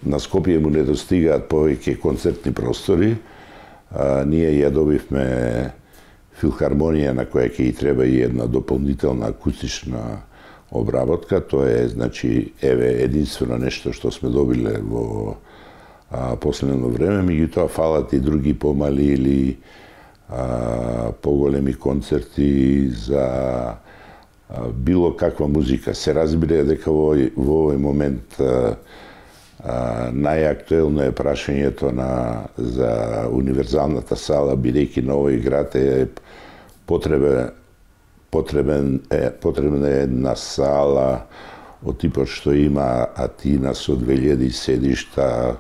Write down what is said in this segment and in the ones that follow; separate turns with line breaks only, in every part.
На Скопје му недостигаат повеќе концертни простори. Ние ја добивме филхармонија на која ќе и треба и една дополнителна акустична обработка. Тоа е, значи, единствено нешто што сме добиле во последно време, меѓутоа фалат и други помали или поголеми концерти за било каква музика. Се разбира дека во овој момент најактуелно е прашањето за универзалната сала, бидејќи на овој град е потребна една сала од типот што има Атина со 2000 седишта,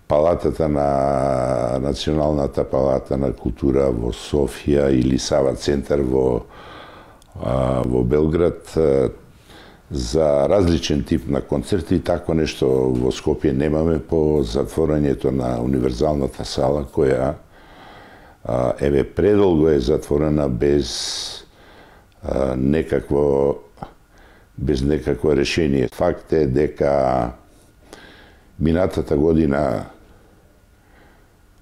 палатата на Националната палата на култура во Софија или Сава центар во Белград, за различен тип на концерти. Тако нешто во Скопје немаме по затворањето на универзалната сала, која предолго е затворена без некакво решение. Факт е дека минатата година,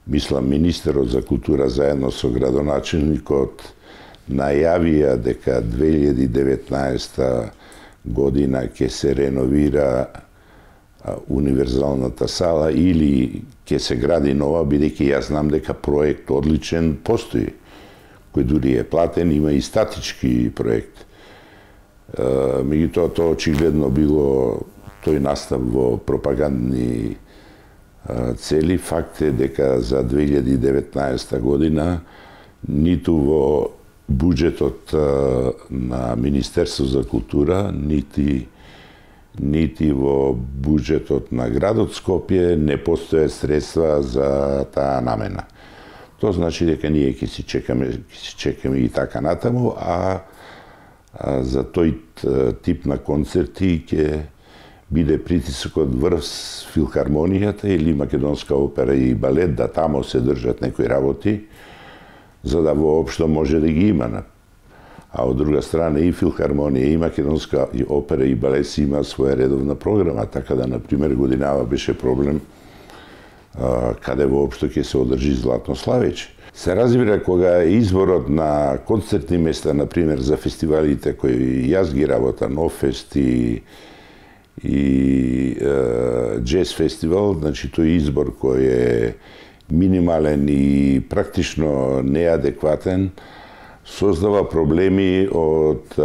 мислам, министерот за култура заедно со градоначелникот најавија дека 2019 година ќе се реновира универзалната сала или ќе се гради нова, бидејќи јас знам дека проект одличен постои, кој дури е платен, има и статички проект. Меѓутоа, тоа очигледно било тој настав во пропагандни цели. Факт е дека за 2019 година ниту во буџетот на Министерство за култура, нити во буџетот на градот Скопје не постојат средства за таа намена. Тоа значи дека ние ќе си чекаме и така натаму, а за тој тип на концерти ќе биде притисокот врз филхармонијата или Македонска опера и балет, да тамо се држат некои работи, за да воопшто може да ги има. А од друга страна и филхармонија и Македонска опера и балет си има своја редовна програма, така да, например, годинава беше проблем каде воопшто ќе се одржи Златно славече. Се разбира кога изборот на концертни места, например, за фестивалите кои јас ги работам, Нофест и Джез фестивал, значи тој избор кој е минимален и практично неадекватен, создава проблеми од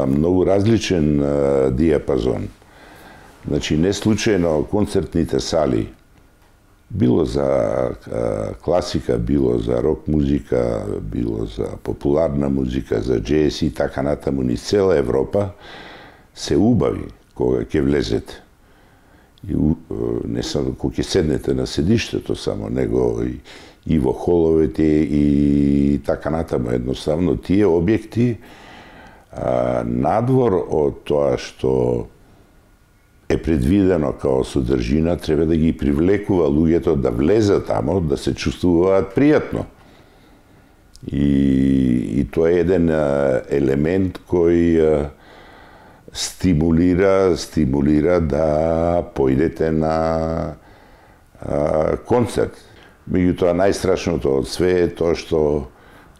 многу различен диапазон. Значи, не случајно концертните сали, било за класика, било за рок музика, било за популарна музика, за джез и така натаму, низ цела Европа, се убави кога ќе влезете. И не само кога ќе седнете на седиштето само, него и во холовете и така натаму. Едноставно, тие објекти, надвор од тоа што е предвидено као содржина, треба да ги привлекува луѓето да влезат тамо, да се чувствуваат пријатно. И тоа е еден елемент кој стимулира да појдете на концерт. Меѓутоа, најстрашното од све е тоа што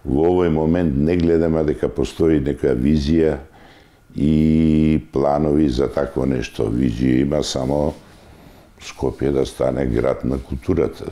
во овој момент не гледаме дека постои некоја визија и планови за такво нешто. Визија има само Скопје да стане град на културата.